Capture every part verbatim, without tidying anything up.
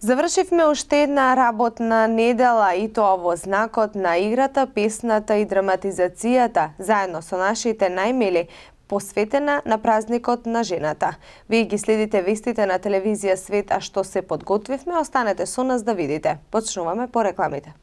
Завршивме уште една работна недела и тоа во знакот на играта, песната и драматизацијата, заедно со нашите најмили, посветена на празникот на жената. Вие ги следите вестите на телевизија Свет, а што се подготвивме, останете со нас да видите. Почнуваме по рекламите.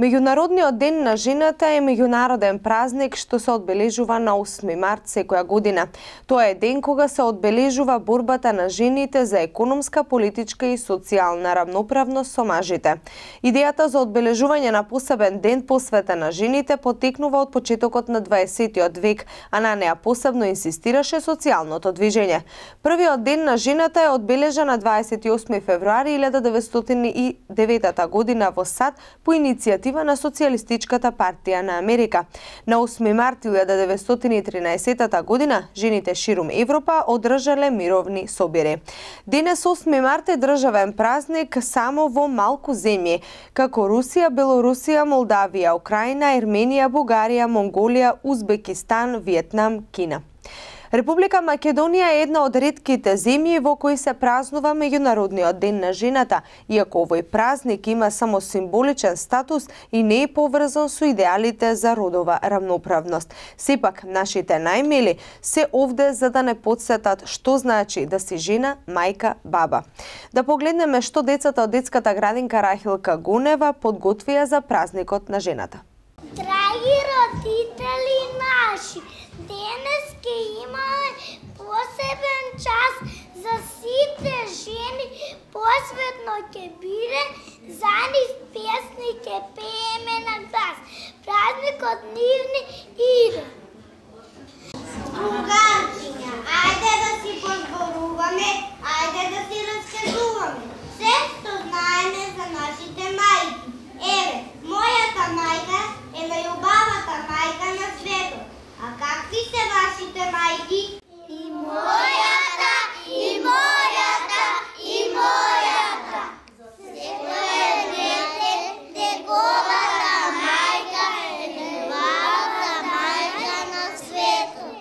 Меѓународниот ден на жената е меѓународен празник што се одбележува на осми март секоја година. Тоа е ден кога се одбележува борбата на жените за економска, политичка и социјална рамноправност со мажите. Идејата за одбележување на посебен ден посветен на жените потекнува од почетокот на дваесеттиот век, а на неа посебно инсистираше социјалното движење. Првиот ден на жената е одбележан на дваесет и осми февруари илјада деветстотини и девета година во САД по иницијатива на Социјалистичката партија на Америка. На осми март илјада деветстотини и тринаесета година жените ширум Европа одржале мировни собири. Денес осми март е државен празник само во малку земји, како Русија, Белорусија, Молдавија, Украина, Ерменија, Бугарија, Монголија, Узбекистан, Виетнам, Кина. Република Македонија е една од ретките земји во кои се празнува меѓународниот ден на жената, иако овој празник има само символичен статус и не е поврзан со идеалите за родова рамноправност. Сепак, нашите најмили се овде за да не потсетат што значи да си жена, мајка, баба. Да погледнеме што децата од детската градинка Рахилка Гунева подготвија за празникот на жената. Драги родители наши, денес ќе имаме посебен час за сите жени, посветно ќе биде за нив песни, ќе пееме на глас. Празникот нивни иде. Другарчиња, ајде да си позборуваме, ајде да си раскажуваме се што знаеме за нашите мајки. Еве, мојата мајка е најубавата мајка на светот. А какви се вашите мајки? И мојата, и мојата, и мојата. Секој дете, неговата мајка е најубавата мајка на светот.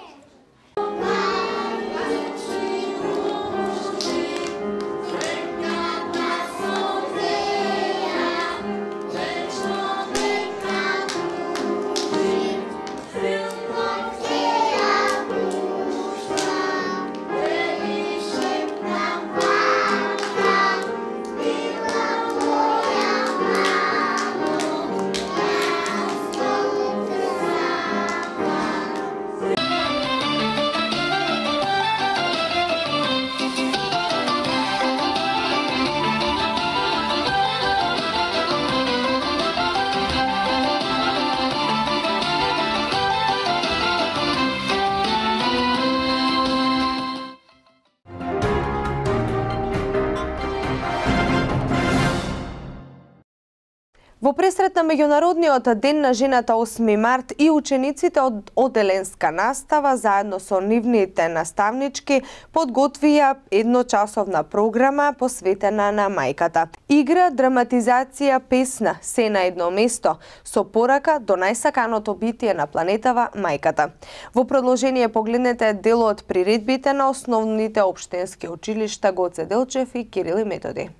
Во пресрет на меѓународниот ден на жената осми март и учениците од оделенска настава заедно со нивните наставнички подготвија едночасовна програма посветена на мајката. Игра, драматизација, песна, се на едно место, со порака до најсаканото битие на планетава, мајката. Во продолжение погледнете дел од приредбите на основните општински училишта Гоце Делчев и Кирил и Методи.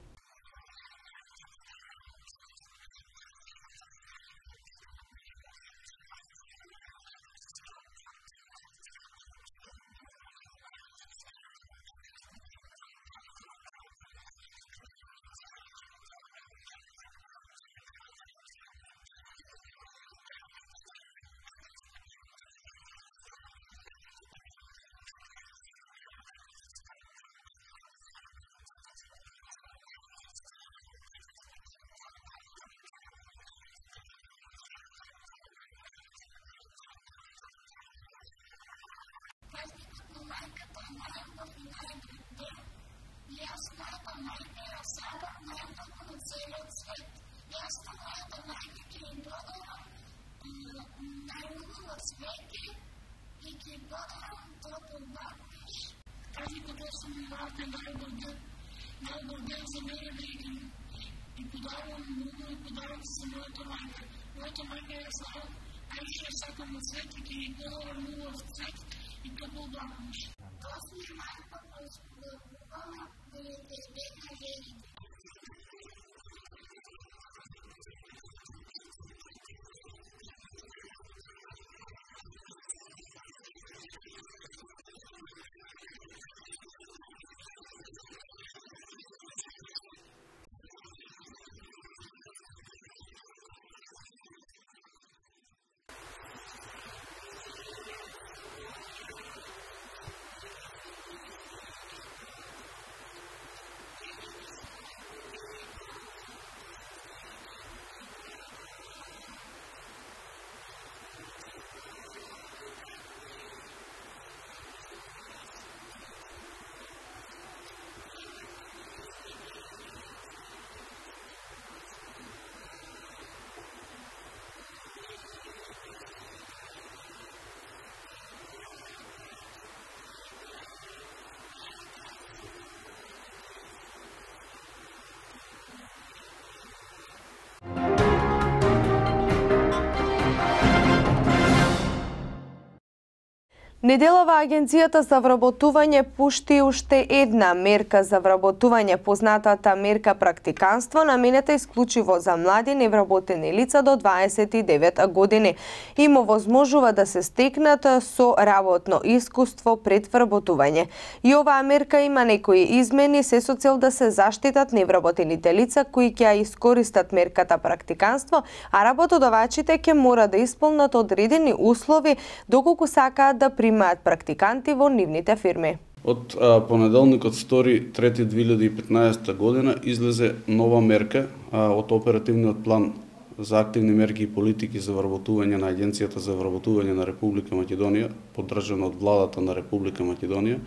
Неделава Агенцијата за вработување пушти уште една мерка за вработување, познатата мерка практиканство, наменета исклучиво за млади невработени лица до дваесет и девет години. Им овозможува да се стекнат со работно искуство пред вработување. И оваа мерка има некои измени се со цел да се заштитат невработените лица кои ќе ја искористат мерката практиканство, а работодавачите ќе мора да исполнат одредени услови доколку сакаат да примаат практиканти во нивните фирми. Од а, понеделникот втори трети две илјади и петнаесета година излезе нова мерка а, од оперативниот план за активни мерки и политики за вработување на Агенцијата за вработување на Република Македонија, поддржана од владата на Република Македонија.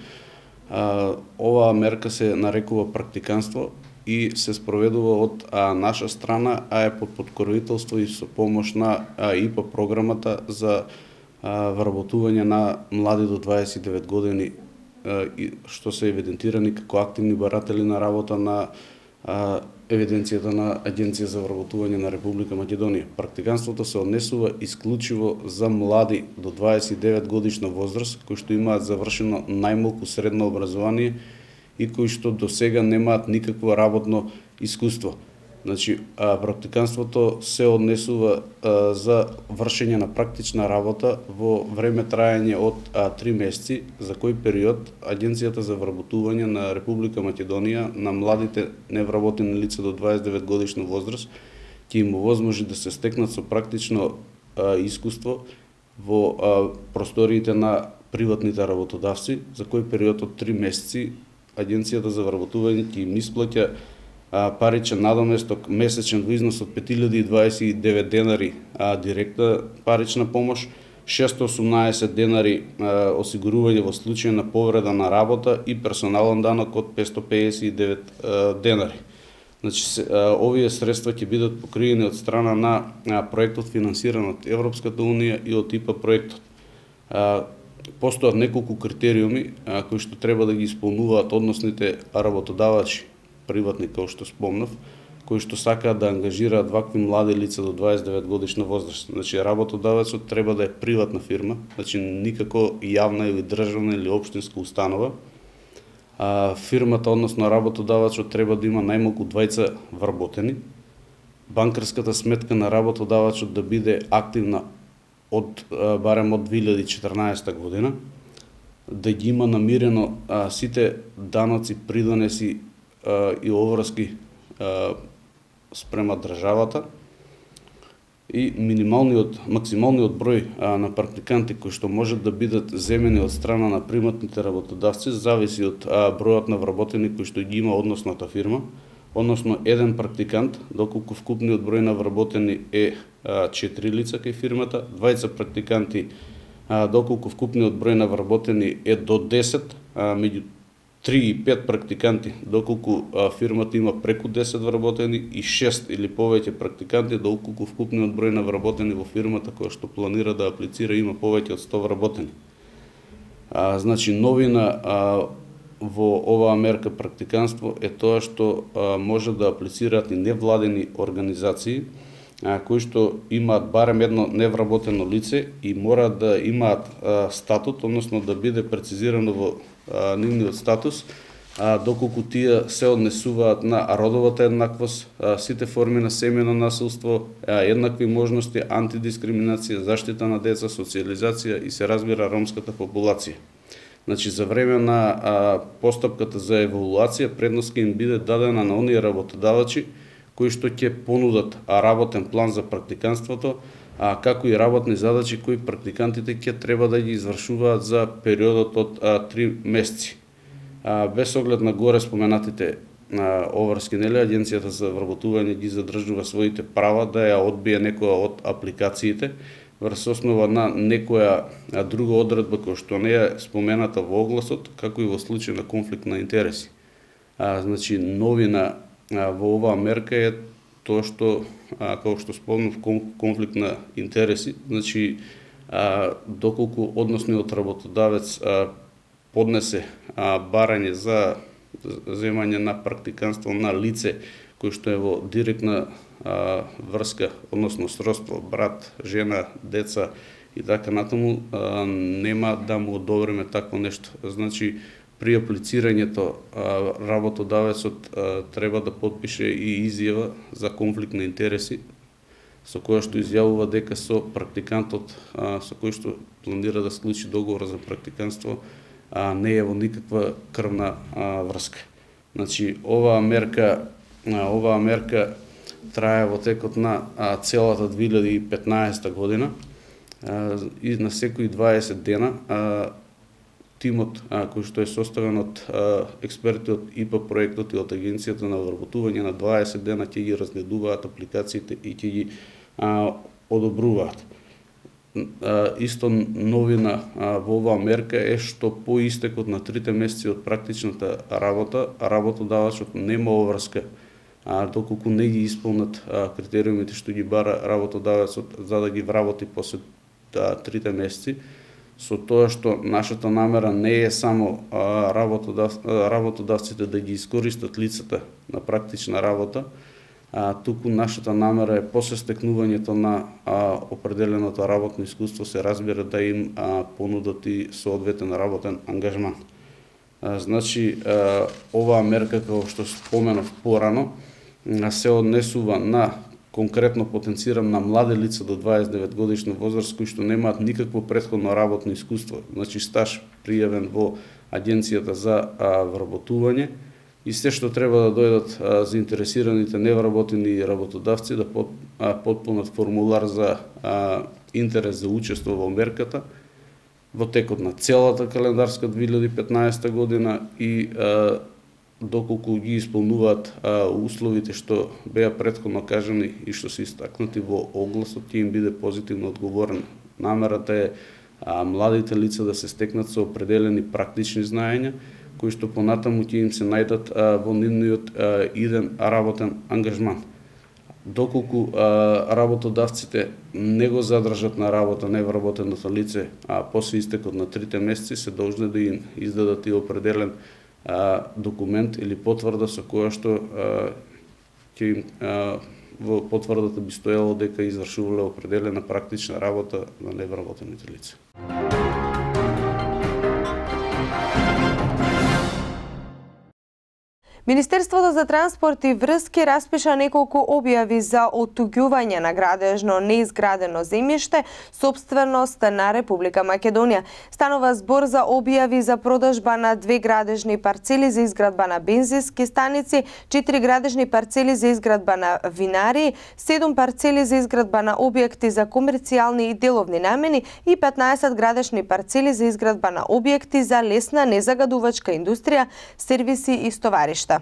А, оваа мерка се нарекува практиканство и се спроведува од а, наша страна, а е под подкровителство и со помош на а, ИПА програмата за вработување на млади до дваесет и девет години, што се евидентирани како активни баратели на работа на евиденцијата на Агенција за вработување на Република Македонија. Практиканството се однесува исклучиво за млади до дваесет и девет годишна возраст, кои што имаат завршено најмалку средно образование и кои што до сега немаат никакво работно искуство. Значи, а, практиканството се однесува а, за вршење на практична работа во време трајање од а, три месеци, за кој период Агенцијата за вработување на Република Македонија на младите невработени лица до дваесет и девет годишна возраст ќе им овозможи да се стекнат со практично а, искуство во а, просториите на приватните работодавци, за кој период од три месеци Агенцијата за вработување ќе им исплаќа паричен надоместок месечен во износ од пет илјади и дваесет и девет денари а, директна парична помош, шестоста и осумнаесет денари а, осигурување во случај на повреда на работа и персонален данок од петстотини педесет и девет а, денари. Значи, се, а, овие средства ќе бидат покриени од страна на а, проектот финансиран од Европската унија и од ИПА проектот. А, постојат неколку критериуми а, кои што треба да ги исполнуваат односните работодавачи приватни, како што спомнав, кои што сакаат да ангажираат вакви млади лица до дваесет и девет годишна возраст. Значи работодавецот треба да е приватна фирма, значи никако јавна или државна или општинска установа. А, фирмата, односно работодавецот, треба да има најмалку двајца вработени. Банкарската сметка на работодавецот да биде активна од барем од две илјади и четрнаесета година, да ги има намирено а, сите даноци, придонеси а, и оврски а, спрема државата и минималниот, максималниот број а, на практиканти кои што можат да бидат земени од страна на приматните работодавци зависи од а, бројот на вработени кои што ги има односната фирма, односно еден практикант, доколку вкупниот број на вработени е а, четири лица кај фирмата, двајца практиканти, а, доколку вкупниот број на вработени е до десет, а, меѓу три и пет практиканти, доколку а, фирмата има преку десет вработени, и шест или повеќе практиканти, доколку вкупниот број на вработени во фирмата која што планира да аплицира има повеќе од сто вработени. А, значи новина а, во оваа мерка практиканство е тоа што а, може да аплицираат и невладени организации а, кои што имаат барем едно невработено лице и мора да имаат а, статут, односно да биде прецизирано во а, нивниот статус, а, доколку тие се однесуваат на родовата еднаквост, а, сите форми на семејно насилство, а, еднакви можности, антидискриминација, заштита на деца, социјализација и се разбира ромската популација. Значи, за време на а, постапката за евалуација, предност ќе им биде дадена на оние работодавачи кои што ќе понудат работен план за практиканството, а, како и работни задачи кои практикантите ќе треба да ги извршуваат за периодот од а, три месеци. А, без оглед на горе споменатите а, оврски, нели, Агенцијата за вработување ги задржува своите права да ја одбие некоја од апликациите, врз основа на некоја друга одредба која што не е спомената во огласот, како и во случај на конфликт на интереси. А, значи, новина а, во оваа мерка е тоа што, а, како што спомнав, конфликт на интереси, значи, а, доколку односниот работодавец а, поднесе а, барање за земање на практиканство на лице кој што е во директна а, врска, односно сродство, брат, жена, деца и така натаму, а, нема да му одобриме такво нешто. Значи, при аплицирањето а, работодавецот а, треба да подпише и изјава за конфликт на интереси, со која што изјавува дека со практикантот а, со кој што планира да склучи договор за практиканство а, не е во никаква крвна а, врска. Значи, оваа мерка Оваа мерка трае во текот на а, целата две илјади и петнаесета година а, и на секои дваесет дена а, тимот а, кој што е составен од а, експерти од И П А проектот и од Агенцијата на вработување на дваесет дена ќе ги разгледуваат апликациите и ќе ги а, одобруваат. А, исто новина а, во оваа мерка е што по истекот на трите месеци од практичната работа, работодавачот нема оврска а, доколку не ги исполнат а, критериумите што ги бара работодавецот за да ги вработи после а, трите месеци, со тоа што нашата намера не е само а, работодав, а, работодавците да ги искористат лицата на практична работа, а, туку нашата намера е после стекнувањето на а, определеното работно искуство се разбира да им а, понудат и соодветен работен ангажман. А, значи, а, оваа мерка, како што споменав порано, се однесува на, конкретно потенцирам, на млади лица до дваесет и девет годишна возраст кои што немаат никакво претходно работно искуство, значи стаж пријавен во Агенцијата за а, вработување, и се што треба да дојдат а, заинтересираните невработени работодавци да под, а, потпунат формулар за а, интерес за учество во мерката во текот на целата календарска две илјади и петнаесета година и а, доколку ги исполнуваат а, условите што беа претходно кажани и што се истакнати во огласот, ќе им биде позитивно одговорено. Намерата е а, младите лица да се стекнат со определени практични знаења, кои што понатаму ќе им се најдат а, во нивниот а, иден работен ангажман. Доколку а, работодавците не го задржат на работа невработеното лице, а после истекот на трите месеци се должни да им издадат и определен а, документ или потврда со која што а, ќе им во потврдата би стоело дека извршувале определена практична работа на невработените лица. Министерството за транспорт и врски распиша неколку објави за оттуѓување на градежно неизградено земјиште, сопственост на Република Македонија. Станува збор за објави за продажба на две градежни парцели за изградба на бензински станици, четири градежни парцели за изградба на винари, седум парцели за изградба на објекти за комерцијални и деловни намени и петнаесет градежни парцели за изградба на објекти за лесна незагадувачка индустрија, сервиси и стоваришта.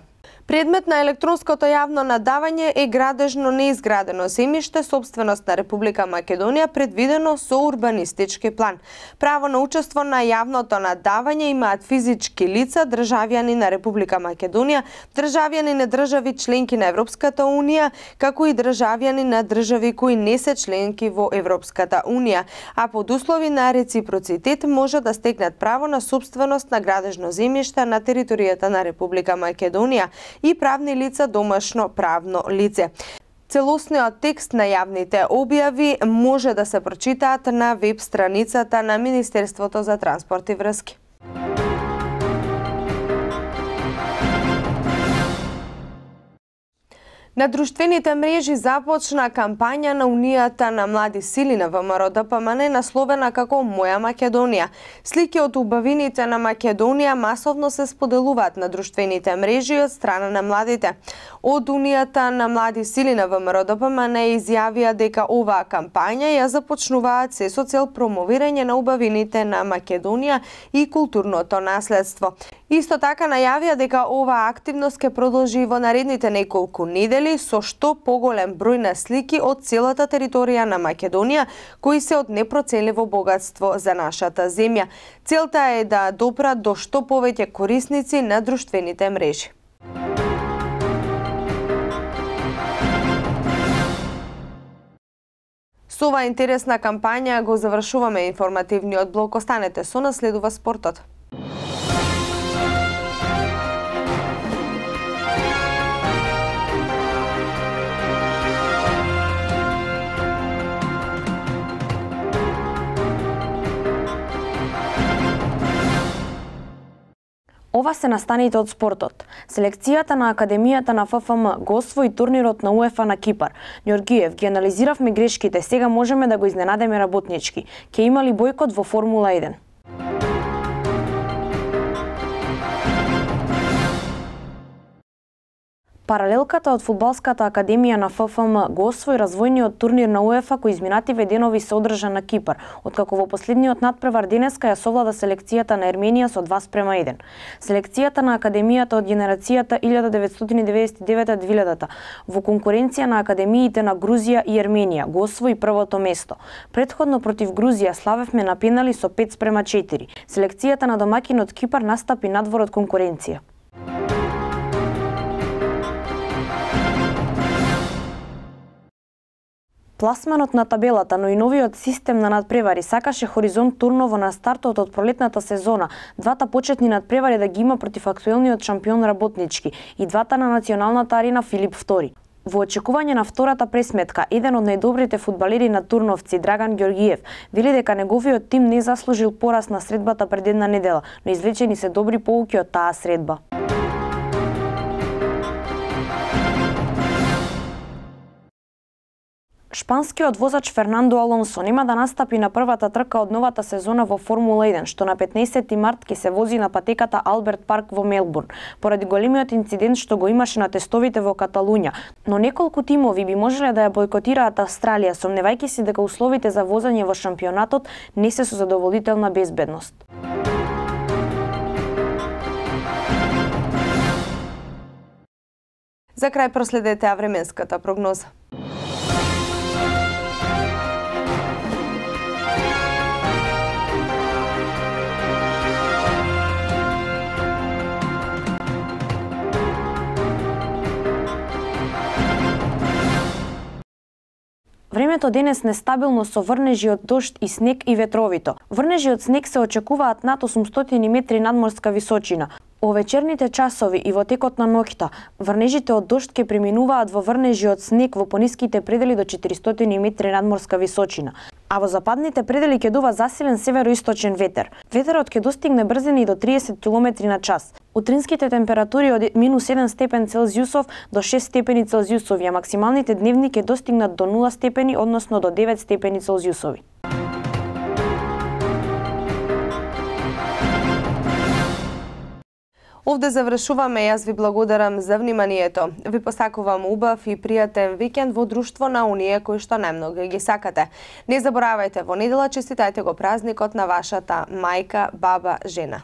Предмет на електронското јавно надавање е градежно неизградено земјиште, сопственост на Република Македонија, предвидено со урбанистички план. Право на учество на јавното надавање имаат физички лица, државјани на Република Македонија, државјани на држави членки на Европската унија, како и државјани на држави кои не се членки во Европската унија, а под услови на реципроцитет може да стекнат право на сопственост на градежно земјиште на територијата на Република Македонија и правни лица домашно правно лице. Целосниот текст на јавните објави може да се прочитаат на веб страницата на Министерството за транспорт и врски. На друштвените мрежи започна кампања на Унијата на млади сили на ВМРО-ДПМН насловена како Моја Македонија. Слики од убавините на Македонија масовно се споделуваат на друштвените мрежи од страна на младите. Од Унијата на млади сили на ВМРО-ДПМН изјавија дека оваа кампања ја започнуваат се со цел промовирање на убавините на Македонија и културното наследство. Исто така најавија дека оваа активност ќе продолжи во наредните неколку недели со што поголем број на слики од целата територија на Македонија кои се од непроценливо богатство за нашата земја. Целта е да допрат до што повеќе корисници на друштвените мрежи. Со оваа интересна кампања го завршуваме информативниот блок. Останете со нас, следува спортот. Ова се настаните од спортот. Селекцијата на Академијата на ФФМ го освои турнирот на УЕФА на Кипар. Ѓоргиев, ги анализиравме грешките, сега можеме да го изненадеме работнички. Ке има ли бојкот во Формула еден? Паралелката од Фудбалската академија на ФФМ го освои развојниот турнир на УЕФА кој изминативе денови се одржа на Кипар, откако во последниот надпревар денеска ја совлада селекцијата на Ерменија со два спрема еден. Селекцијата на академијата од генерацијата илјада деветстотини деветдесет и девета до двилјадата во конкуренција на академиите на Грузија и Ерменија го освои првото место. Претходно против Грузија славевме на пенали со пет спрема четири. Селекцијата на домакинот Кипар настапи надвор од конкуренција. Пласманот на табелата, но и новиот систем на надпревари сакаше Хоризонт турново на стартот од пролетната сезона, двата почетни надпревари да ги има против актуелниот шампион работнички и двата на националната арена Филип втори. Во очекување на втората пресметка, еден од најдобрите фудбалери на турновци, Драган Ѓоргиев, вели дека неговиот тим не заслужил пораз на средбата пред една недела, но извлечени се добри поуки од таа средба. Шпанскиот возач Фернандо Алонсо нема да настапи на првата трка од новата сезона во Формула еден, што на петнаесети март ќе се вози на патеката Алберт Парк во Мелбурн, поради големиот инцидент што го имаше на тестовите во Каталуња. Но неколку тимови би можеле да ја бойкотираат Австралија, сомневајќи се дека условите за возење во шампионатот не се со задоволителна безбедност. За крај проследете временската прогноза. Времето денес нестабилно со врнежи од дожд и снег и ветровито. Врнежи од снег се очекуваат над осумстотини метри надморска височина. Во вечерните часови и во текот на ноќта, врнежите од дожд ќе преминуваат во врнежи од снег во пониските предели до четиристотини метри надморска височина, а во западните предели ќе дува засилен североисточен ветер. Ветерот ќе достигне брзини до триесет километри на час. Утринските температури од минус еден степен Целзиусов до шест степени Целзиусови, а максималните дневни ќе достигнат до нула степени, односно до девет степени Целзиусови. Овде завршуваме, јас ви благодарам за вниманието. Ви посакувам убав и пријатен викенд во друштво на оние кои што најмногу ги сакате. Не заборавајте, во недела честитајте го празникот на вашата мајка, баба, жена.